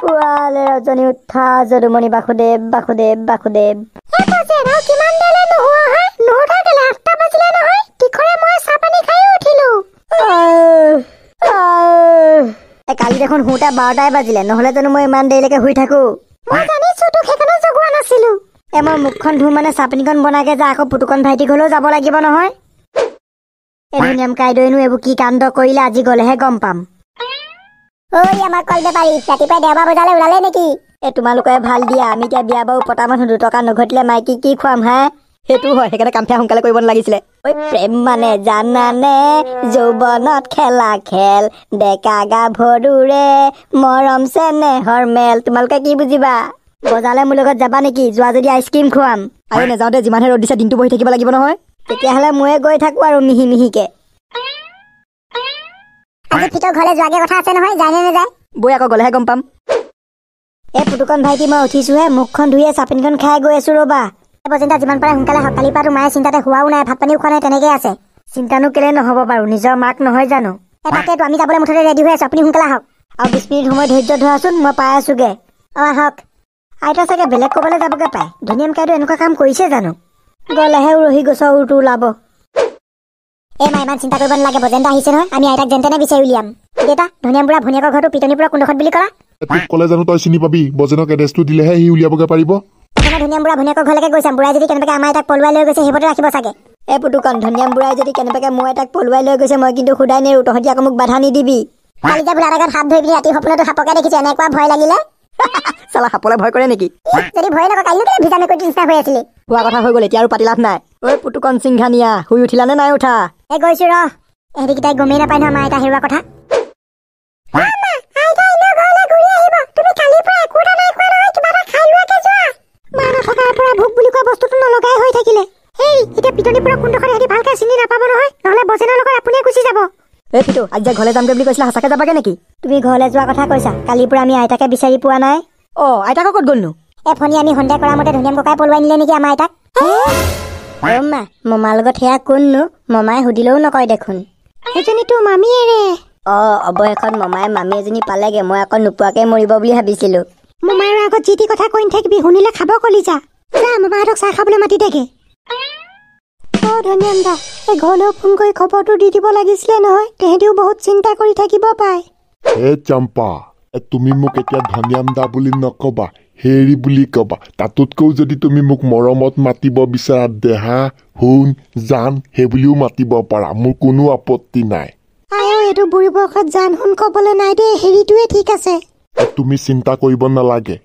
পুৱালে ৰজনী উঠা যদুমণি বাসুদেৱ বাসুদেৱ বাসুদেৱ। কালি দেখোন শুওঁতে 12টাই বাজিলে, নহ'লে জানো মই ইমান দেৰিলৈকে শুই থাকো? এ মই মুখখন ধুওঁ মানে চাহপানীকণ বনাগে যা, আকৌ পুতুকণ ভাইটিক হ'লেও যাব লাগিব নহয়। এই ধুনীয়াম কাইদৈনো এইবোৰ কি কাণ্ড কৰিলে আজি গ'লেহে গম পাম। ঐ আমাৰ কল বেপাৰী, ৰাতিপুৱাই দেওবাৰ বজাৰলৈ ওলালে নেকি? এ তোমালোকে ভাল দিয়া, আমি এতিয়া বিয়া বাৰু পতা মানুহ, 2 টকা নঘটিলে মাইকী কি খুৱাম হে? সেইটো হয়, সেইকাৰণে কাম ফেয়া সোনকালে কৰিব নালাগিছিলে। ঐ প্ৰেম মানে জানানে যৌৱনত খেলা খেল, ডেকা গাভৰুৰে মৰম চেনেহৰ মেল। তোমালোকে কি বুজিবা? বজাৰলৈ মোৰ লগত যাবা নেকি? যোৱা যদি আইচক্ৰীম খুৱাম। আৰু নাযাওঁতে যিমানহে ৰ'দ দিছে, দিনটো বহি থাকিব লাগিব নহয়। তেতিয়াহ'লে ময়ে গৈ থাকো আৰু মিহি মিহিকে। আজি ফিটৰ ঘৰলৈ যোৱাগে কথা আছে নহয়, যায় নে নাযায়? বৈ আকৌ গ'লেহে গম পাম। এই পুতুকণ ভাইটি, মই উঠিছোহে, মুখখন ধুয়ে চাহপানীখন খাই গৈ আছো ৰ'বা। বজেন্দা যিমান পাৰে সোনকালে আহক, কালিৰ পৰাতো মায়ে চিন্তাতে শোৱাও নাই, ভাত পানীও খোৱা নাই, তেনেকেই আছে। চিন্তানো কেলে নহ'ব বাৰু, নিজৰ মাক নহয় জানো? এ তাকেতো, আমি যাবলৈ মুঠতে ৰেডি হৈ আছো, আপুনি সোনকালে আহক। আৰু 20 মিনিট সময় ধৈৰ্য ধৰাচোন, মই পাই আছোগে। অ আহক। আইতা চাগে বেলেগ ক'বালৈ যাবগে পায়। ধুনীয়াম কাইদেউ এনেকুৱা কাম কৰিছে জানো? গ'লেহে উৰহি গছৰ উৰটো ওলাব। এই মা, ইমান চিন্তা কৰিব নালাগে, বজেন্দা আহিছে নহয়, আমি আইতাক যেন তেনে বিচাৰি উলিয়াম। দেউতা, ধনিয়াম বুঢ়া ভনীয়েকৰ ঘৰটো পিটনিপুৰা কোনডোখৰত বুলি ক'লা? তোক ক'লে জানো তই চিনি পাবি? বজেনক এড্ৰেছটো দিলেহে সি উলিয়াবগৈ পাৰিব। প্ৰথমে ধনিয়াম বুঢ়া ভনীয়েকৰ ঘৰলৈকে গৈ চাম, বুঢ়াই যদি কেনেবাকে আমাৰ আইতাক পলুৱাই লৈ গৈছে সেইবোৰতে ৰাখিব চাগে। এই পুতুকণ, ধনিয়াম বুঢ়াই যদি কেনেবাকে মই তাক পলুৱাই লৈ গৈছে, মই কিন্তু সুদাই নেৰো, তহঁতি আকৌ মোক বাধা নিদিবি। কালি যে ভোলাৰ আগত সাপ ধৰি পিনি ৰাতি সপোনতো সাপকে দেখিছো, এনেকুৱা ভয় লাগিলে। চালা, সাপলে ভয় কৰে নেকি? যদি ভয় নকৰে কালিনো কেলে ভিজা মেকুৰীটোৰ নিচিনা হৈ আছিলি? হোৱা কথা হৈ গ'ল, এতিয়া আৰু পাতি লাভ নাই। ঐ পুতুকণ সিংঘানিয়া, শুই উঠিলা নে নাই উঠা? এই গৈছো ৰহ, এহেঁতিকেইটাই গমেই নাপায় নহয় আমাৰ আইতা হেৰুৱা কথা। মা নথকাৰ পৰা ভোক বুলি কোৱা বস্তুটো নলগাই হৈ থাকিলে। হেই, এতিয়া পিটনিপুৰা কোনডোখৰত সিহঁতি ভালকে চিনি নাপাব নহয়, নহ'লে বজেনৰ লগত আপুনিয়ে গুচি যাব। এই ফিটো, আজি যে ঘৰলৈ যামগৈ বুলি কৈছিলা, সঁচাকে যাবাগে নেকি? তুমি ঘৰলৈ যোৱা কথা কৈছা, কালিৰ পৰা আমি আইতাকে বিচাৰি পোৱা নাই। অ আইতাক ক'ত গ'লনো? এই ফণি, আমি সন্দেহ কৰা মতে ধনিয়াম ককাই পলুৱাই নিলে নেকি আমাৰ আইতাক? অ মা, মমাৰ লগত সেয়া কোননো? মমাই সুধিলেও নকয় দেখোন। সেইজনীতো মামীয়েৰে। অ অৱশেষত মমাই মামী এজনী পালেগে, মই আকৌ নোপোৱাকে মৰিব বুলি ভাবিছিলো। মামাৰ আগত যি টি কথা কৈ নাথাকিবি, শুনিলে খাব কলিজা। যা, মামাহঁতক চাহ খাবলৈ মাতি দেগে। অ ধনিয়াম দা, এই ঘৰলৈও ফোন কৰি খবৰটো দি দিব লাগিছিলে নহয়, তেহেঁতিও বহুত চিন্তা কৰি থাকিব পায়। হে চম্পা, তুমি মোক এতিয়া ধনিয়াম দা বুলি নকবা, হেৰি বুলি কবা। তাতোতকৈও যদি তুমি মোক মৰমত মাতিব বিচাৰা, দেহা সোণ জান সেইবুলিও মাতিব পাৰা, মোৰ কোনো আপত্তি নাই। আইও, এইটো বুঢ়ী বয়সত জান সোণ কবলৈ নাই দেই, হেৰিটোৱে ঠিক আছে। তুমি চিন্তা কৰিব নালাগে,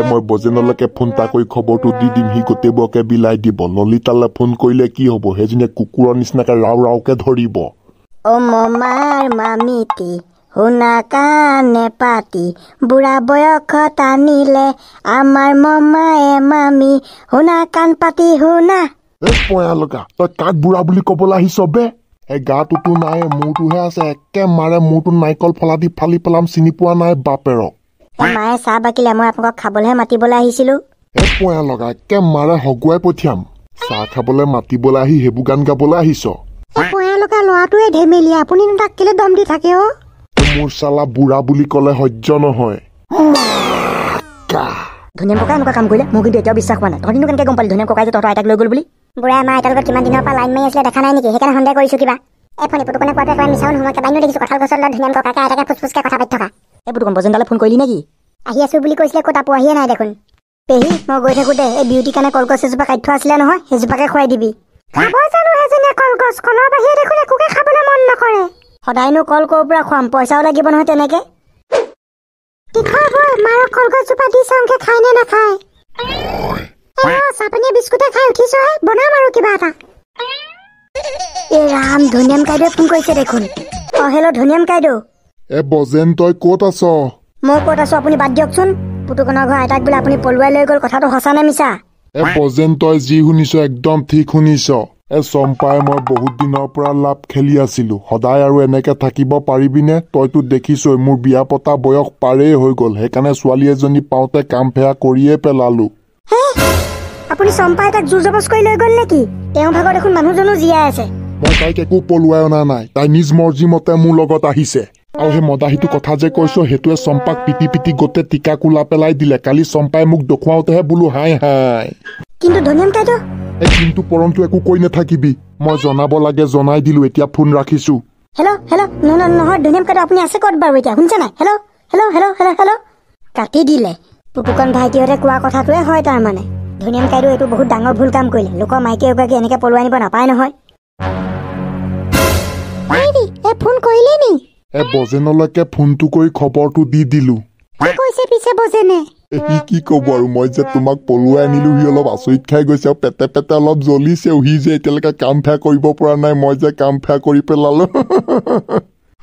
মই বজেনলৈকে ফোন এটা কৰি খবৰটো দি দিম, সি গোটেইবোৰকে বিলাই দিব। ললিতালৈ ফোন কৰিলে কি হ'ব, সেইজনীয়ে কুকুৰৰ নিচিনাকে ৰাও ৰাওকে ধৰিব। অ মমাৰ মামীটি শুনা কাণে পাতি, বুঢ়া বয়সত আনিলে আমাৰ মমায়ে মামী, শুনা কাণ পাতি শুনা। এই পয়া লগা, তই কাক বুঢ়া বুলি ক'বলৈ আহিছ বে? এই গাটোতো নাই, মূৰটোহে আছে, একে মাৰে মূৰটো নাৰিকল ফলা দি ফালি পেলাম, চিনি পোৱা নাই বাপেৰক। মায়ে চাহ বাকিলে, মই আপোনালোকক খাবলৈহে মাতিবলৈ আহিছিলো। এই পয়া লগা, একে মাৰে হগুৱাই পঠিয়াম। চাহ খাবলৈ মাতিবলৈ আহি সেইবোৰ গান গাবলৈ আহিছ? এই পয়া লগা ল'ৰাটোৱে ধেমেলীয়া, আপুনিনো তাক কেলে দম দি থাকে অ? মোৰ চালা বুঢ়া বুলি ক'লে সহ্য নহয়। ধনিয়াম ককাই এনেকুৱা কাম কৰিলে মোৰ কিন্তু এতিয়াও বিশ্বাস হোৱা নাই। তহঁতিনো কেনেকৈ গম পালি ধনিয়াম ককাই যে তহঁতৰ আইতাক লৈ গ'ল বুলি? বুঢ়াই আমাৰ আইতাৰ লগত কিমান দিনৰ পৰা লাইন মাৰি আছিলে দেখা নাই নেকি? সেইকাৰণে সন্দেহ কৰিছো কিবা। এই ফণি, পুতুকণে কোৱাটো একেবাৰে মিছাও নহয়, কেইবাদিনো দেখিছো কঁঠাল গছৰ তলত ধুনীয়াম ককাকে আইতাকে ফুচফুচকে কথা পাতি থকা। এই পুতুকণ, বজেনদালে ফোন কৰিলি নেকি? আহি আছো বুলি কৈছিলে, ক'ত পোৱাহিয়ে নাই দেখোন। পেহী, মই গৈ থাকোঁতে এই বিউটিৰ কাৰণে কলগছ এজোপা কাটি থোৱা আছিলে নহয়, সেইজোপাকে খুৱাই দিবি। খাব জানো সেইজনীয়ে কলগছ? কলৰ বাহিৰে দেখোন একোকে খাবলৈ মন নকৰে। সদায়নো কল ক'ৰ পৰা খুৱাম, পইচাও লাগিব নহয় তেনেকে। তীখৰ বৈ, মাৰক কলগছজোপা দি চাওঁগে খায় নে নাখায়। এই ৰ, চাহপানীয়ে বিস্কুটে খাই উঠিছোহে, বনাম আৰু কিবা এটা। এই ৰাম, ধনিয়াম কাইদেৱে ফোন কৰিছে দেখোন। অ হেল্ল' ধনিয়াম কাইদেউ। এ বজেন, তই ক'ত আছ? মই ক'ত আছো আপুনি বাদ দিয়কচোন। পুতুকণৰ ঘৰ আইতাক বোলে আপুনি পলুৱাই লৈ গ'ল, কথাটো সঁচা নে মিছা? এ বজেন, তই যি শুনিছ একদম ঠিক শুনিছ। এ চম্পাই মই বহুত দিনৰ পৰা লাভ খেলি আছিলো, সদায় আৰু এনেকে থাকিব পাৰিবিনে? তইতো দেখিছই মোৰ বিয়া পতা বয়স পাৰেই হৈ গ'ল, সেইকাৰণে ছোৱালী এজনী পাওঁতে কাম ফেয়া কৰিয়ে পেলালো। আপুনি চম্পা আইতাক জোৰ জবজ কৰি লৈ গ'ল নেকি? তেওঁৰ ভাগৰ দেখোন মানুহজনো জীয়াই আছে। মই তাইক একো পলুৱাই অনা নাই, তাই নিজ মৰ্জি মতে মোৰ লগত আহিছে। আৰু সেই মদাহীটো কথা যে কৈছ, সেইটোৱে চম্পাক পিটি পিটি গোটেই টিকা কোলা পেলাই দিলে। কালি চম্পাই মোক দেখুৱাওঁতেহে বোলো হাই হাই। কিন্তু ধনিয়াম কাইদেউ, এই কিন্তু পৰন্তু একো কৈ নাথাকিবি, মই জনাব লাগে জনাই দিলো, এতিয়া ফোন ৰাখিছো। হেল্ল' হেল্ল', নহয় ধনিয়াম কাইদেউ, আপুনি আছে ক'ত বাৰু এতিয়া? শুনিছে নাই? Hello hello hello hello hello, কাটি দিলে। পুপুকন ভাইটিহঁতে কোৱা কথাটোৱে হয় তাৰমানে। ধনিয়াম কাইদেউ এইটো বহুত ডাঙৰ ভুল কাম কৰিলে, লোকৰ মাইকী এগৰাকী এনেকে পলুৱাই আনিব নাপায় নহয়। এই ফোন কৰিলে নি? এ বজেনলৈকে ফোনটো কৰি খবৰটো দি দিলো। কি কৈছে পিছে বজেনে? সি কি ক'ব আৰু, মই যে তোমাক পলুৱাই আনিলো সি অলপ আচৰিত খাই গৈছে আৰু পেটে পেটে অলপ জ্বলিছেও। সি যে এতিয়ালৈকে কাম ফেয়া কৰিব পৰা নাই, মই যে কাম ফেয়া কৰি পেলালো।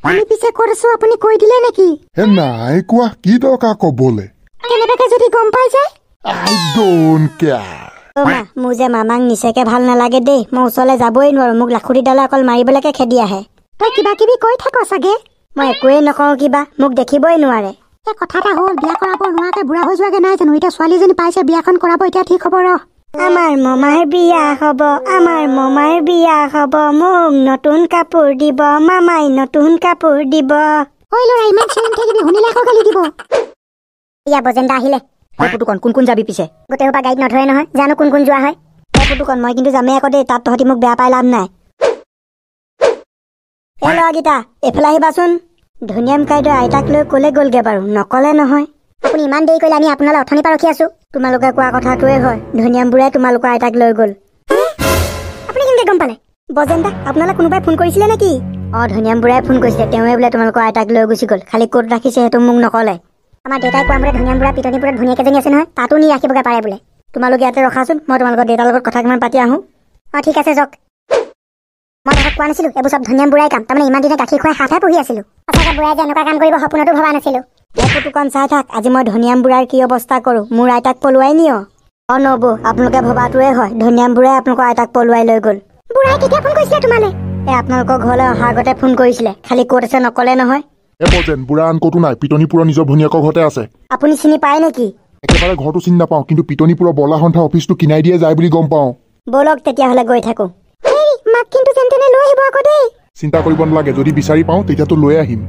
আমি পিছে ক'ত আছো আপুনি কৈ দিলে নেকি? হে নাই কোৱা, কি দৰকাৰ ক'বলে? কেনেবাকে যদি গম পাই যায়? আই don't care. অ মা, মোৰ যে মামাক নিচেকে ভাল নালাগে দেই, মই ওচৰলৈ যাবই নোৱাৰো, মোক লাখুটিডালে অকল মাৰিবলৈকে খেদি আহে। তই কিবা কিবি কৈ থাক চাগে। মই একোৱেই নকওঁ, কিবা মোক দেখিবই নোৱাৰে। এই কথা এটা হ'ল, বিয়া কৰাব নোৱাৰাকে বুঢ়া হৈ যোৱাগে নাই জানো? এতিয়া ছোৱালীজনী পাইছে, বিয়াখন কৰাব এতিয়া ঠিক হ'ব ৰহ। আমাৰ মামাৰ বিয়া হ'ব, আমাৰ মামাৰ বিয়া হ'ব, মোক নতুন কাপোৰ দিব, মামাই নতুন কাপোৰ দিব। ঐ ল'ৰা, ইমান চিঞৰি নাথাকিবি, শুনিলে আকৌ গালি দিব। ইয়া বজেনদা আহিলে। পুতুকন, কোন কোন যাবি পিছে? গোটেই সোপা গাড়ীত নধৰে নহয়, জানো কোন কোন যোৱা হয়। পুতুকন, মই কিন্তু যামেই আকৌ দেই, তাত তহঁতি মোক বেয়া পাই লাভ নাই। এই ল'ৰাকেইটা এইফালে আহিবাচোন। ধনিয়াম কাইদেউ আইতাক লৈ ক'লে গ'লগে বাৰু, নকলে নহয়। আপুনি ইমান দেৰি কৰিলে, আমি আপোনালৈ অথনিৰ পৰা ৰখি আছো। তোমালোকে কোৱা কথাটোৱে হয়, ধনিয়াম বুঢ়াই তোমালোকৰ আইতাক লৈ গ'ল। আপুনি কেনেকৈ গম পালে? বজেনদা, আপোনালৈ কোনোবাই ফোন কৰিছিলে নেকি? অ, ধনিয়াম বুঢ়াই ফোন কৰিছিলে, তেওঁৱে বোলে তোমালোকৰ আইতাক লৈ গুচি গ'ল, খালি ক'ত ৰাখিছে সেইটো মোক নকলে। আমাৰ দেউতাই কোৱা মতে ধনিয়াম বুঢ়া পিটনিপুৰত ভনীয়েক এজনী আছে নহয়, তাতো নি ৰাখিবগৈ পাৰে বোলে। তোমালোক ইয়াতে ৰখাচোন, মই তোমালোকৰ দেউতাৰ লগত কথা কিমান পাতি আহোঁ। অ ঠিক আছে যাওক। মই তহঁতক কোৱা নাছিলো এইবোৰ চব ধনিয়াম বুঢ়াই কাম? তাৰমানে ইমান দিনে গাখীৰ খুৱাই হাতহে পুহি আছিলো। সঁচাকৈ বুঢ়াই যে এনেকুৱা কাম কৰিব সপোনতো ভবা নাছিলো। এই পুতুকন চাই থাক, আজি মই ধনিয়াম বুঢ়াৰ কি অৱস্থা কৰো, মোৰ আইতাক পলুৱাই নিয়। অ নবৌ, আপোনালোকে ভবাটোৱে হয়, ধনিয়াম বুঢ়াই আপোনালোকৰ আইতাক পলুৱাই লৈ গ'ল। বুঢ়াই কেতিয়া ফোন কৰিছিলে তোমালৈ? এই আপোনালোকৰ ঘৰলৈ অহাৰ আগতে ফোন কৰিছিলে, খালি ক'ত আছে নকলে নহয়। এ বজেন, বুঢ়া আন ক'তো নাই, পিটনিপুৰৰ নিজৰ ভনীয়েকৰ ঘৰতে আছে। আপুনি চিনি পায় নেকি? একেবাৰে ঘৰটো চিনি নাপাওঁ, কিন্তু পিটনিপুৰৰ বৰলা সন্থা অফিচটো কিনাই দিয়ে যায় বুলি গম পাওঁ। ব'লক তেতিয়াহ'লে গৈ থাকো। মাক কিন্তু যেন তেনে লৈ আহিব আকৌ দেই। চিন্তা কৰিব নালাগে, যদি বিচাৰি পাওঁ তেতিয়াতো লৈ আহিম।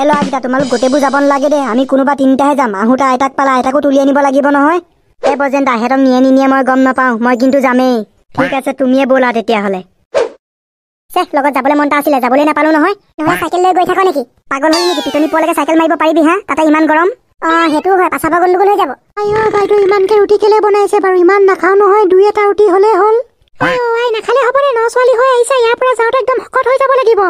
ল'ৰাকেইটা, তোমালোক গোটেইবোৰ যাব নালাগে দেই, আমি কোনোবা তিনিটাহে যাম। আহোঁতে আইতাক পালা, আইতাকো তুলি আনিব লাগিব নহয়। এই বজেন দা, সিহঁতক নিয়ে নিনিয়ে মই গম নাপাওঁ, মই কিন্তু যামেই। ঠিক আছে, তুমিয়ে ব'লা তেতিয়াহ'লে। চেহ, লগত যাবলৈ মন এটা আছিলে, যাবলৈ নাপালো নহয়। নহ'লে চাইকেল লৈ গৈ থাক নেকি? পাগল হ'ল নেকি? পিটনি পোৱালৈকে চাইকেল মাৰিব পাৰিবি হা? তাতে ইমান গৰম। অ সেইটোও হয়, পাছাব গণ্ডগোল হৈ যাব। আই অ বাইদেউ, ইমানকে ৰুটি কেলে বনাইছে বাৰু? ইমান নাখাওঁ নহয়, দুই এটা ৰুটি হ'লেই হ'ল। অ আই, নাখালে হ'বনে? ন ছোৱালী হৈ আহিছা, ইয়াৰ পৰা যাওঁতে একদম শকত হৈ যাব লাগিব।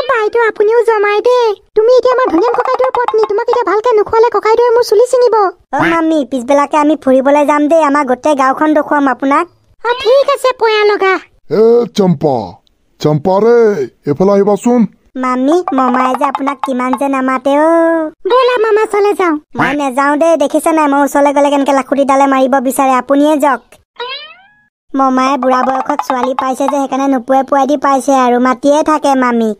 বাইদেউ আপুনিও জমাই দেই, তুমি এতিয়া আমাৰ ধনিয়াম ককাইদেউৰ পত্নী, তোমাক এতিয়া ভালকে নোখোৱালে ককাইদেৱে মোৰ চুলি ছিঙিব। অ মামী, পিছবেলাকে আমি ফুৰিবলৈ যাম দেই, আমাৰ গোটেই গাঁওখন দেখুৱাম আপোনাক। অ ঠিক আছে, পয়া লগা। এ চম্পা, চম্পা ৰে, এইফালে আহিবাচোন। মামী, মমাই যে আপোনাক কিমান যে নামাতে অ। ব'লা মামা, চলে যাওঁ। মই নেযাওঁ দেই, দেখিছে নাই মই ওচৰলৈ গ'লে কেনেকে লাখুটিডালে মাৰিব বিচাৰে, আপুনিয়ে যাওক। মমায়ে বুঢ়া বয়সত ছোৱালী পাইছে যে, সেইকাৰণে নোপোৱাই পোৱাই দি পাইছে আৰু মাতিয়ে থাকে মামীক।